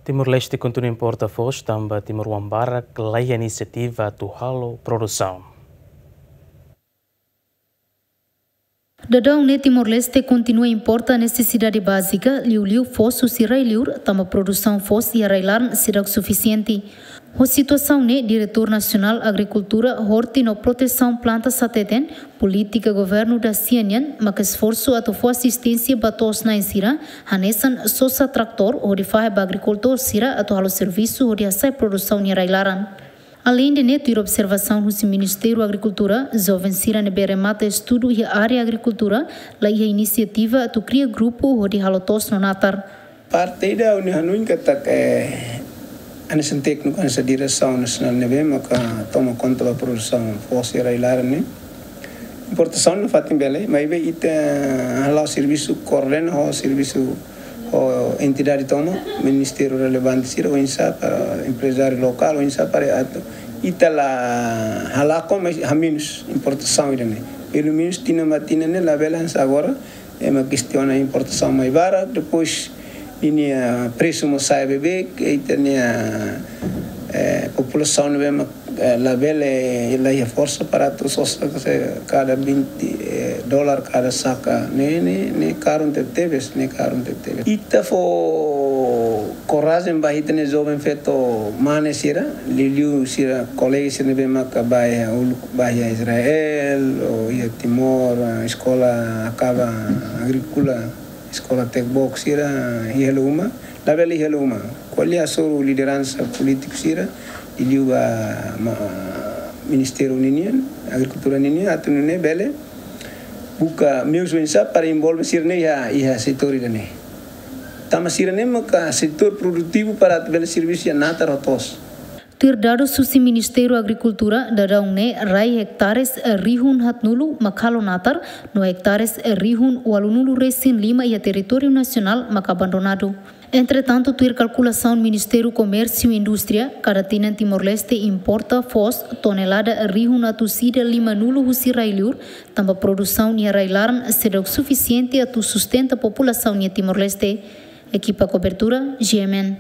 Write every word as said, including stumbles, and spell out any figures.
Timor-Leste kontinua importa foos tanba timoroan barak laiha inisiativa atu halo produsaun. Daudaun ne'e Timor-Leste kontinua importa nesesidade bázika, liuliu foos husi rai-liur, tanba produsaun foos iha rai-laran seidauk sufisiente. Ho situasaun ne'e, Diretór Nasionál Agrikultura, Horti no Protesaun Plantas hateten, polítika governu dasia nian maka esforsu atu fó asisténsia ba to'os-na'in sira, hanesan sosa tratór hodi fahe ba agrikultór sira atu halo servisu hodi hasa'e produsaun iha rai-laran. Aleinde ne'e, tuir observasaun husi Ministériu Agrikultura, joven sira ne'ebé remata estudu iha área agrikultura laiha inisiativa atu kria grupu hodi halo to'os no natar. Parte ida ha'u-nia hanoin katak, eh, hanesan tékniku, hanesan diresaun nasionál ne'ebé maka toma konta ba produsaun foos iha rai-laran ne'e. Importasaun nafatin bele, maibé ita hala'o servisu koordena ho servisu ho entidade tomak, ministériu relevante sira, oinsá para emprezáriu lokál, oinsá para atu ita la halakon, mas hamenus importasaun ida-ne'e. Pelumenus tinan ba tinan ne'e labele hanesan agora, ema kestiona importasaun mai barak, depois ninia presu mós sa'e beibeik, ita-nia, eh, populasaun ne'ebé mak, eh, labele, laiha forsa para atu sosa, se kada vinte, eh, dolar kada saka, ne'e, ne'e, ne'e karun tebetebes, ne'e karun tebetebes. Ita fó korajen ba ita-nia joven feto mane sira, liuliu sira kolega sira ne'ebé maka bá iha uluk, bá iha Israel, ou iha Timor, ah, eskola akaba agríkola, eskola tekbok sira iha hela uma, labele iha hela uma. Ko'alia hasoru lideransa polítiku sira, liuliu ba ma-, Ministériu ninian, Agrikultura ninian, atu nune'e bele buka meius oinsá para envolve sira-ne'e iha, iha setór ida-ne'e. Tanba sira-ne'e maka setór produtivu para atu bele servisu iha natar ho to'os. Tuir dadus husi Ministériu Agrikultura, daudaun ne'e rai hektares rihun haatnulu mak halo natar, no hektares rihun ualunulu resin lima iha territóriu nasionál mak abandonadu. Entretantu, tuir kalkulasaun Ministériu Komérsiu Indústria, kada tinan Timor-Leste importa foos tonelada rihun atus ida limanulu husi rai-liur, tanba produsaun iha rai-laran seidauk sufisiente atu sustenta populasaun iha Timor-Leste. Ekipa kobertura, G M N.